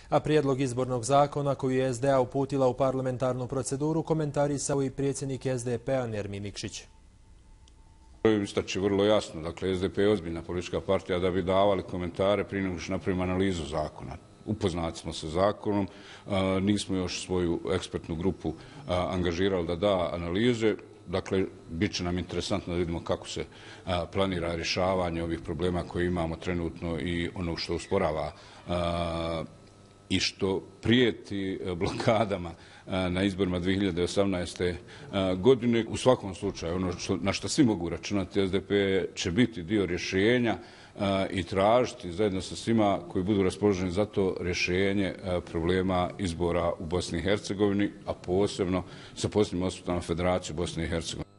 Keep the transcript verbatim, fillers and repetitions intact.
A prijedlog izbornog zakona koji je S D A uputila u parlamentarnu proceduru komentarisao i predsjednik S D P-a Nermin Nikšić. Istaći vrlo jasno, dakle S D P je ozbiljna politička partija da bi davali komentare prije nego što napravimo analizu zakona. Upoznati smo sa zakonom, nismo još svoju ekspertnu grupu angažirali da da analize. Dakle, bit će nam interesantno da vidimo kako se planira rješavanje ovih problema koje imamo trenutno i ono što usporava i što prijeti blokadama na izborima dvije hiljade osamnaeste. godine. U svakom slučaju, ono što, na što svi mogu računati, S D P će biti dio rješenja i tražiti zajedno sa svima koji budu raspoloženi za to rješenje problema izbora u Bosni i Hercegovini, a posebno sa posebnim osvrtom na Federaciju Bosne i Hercegovine.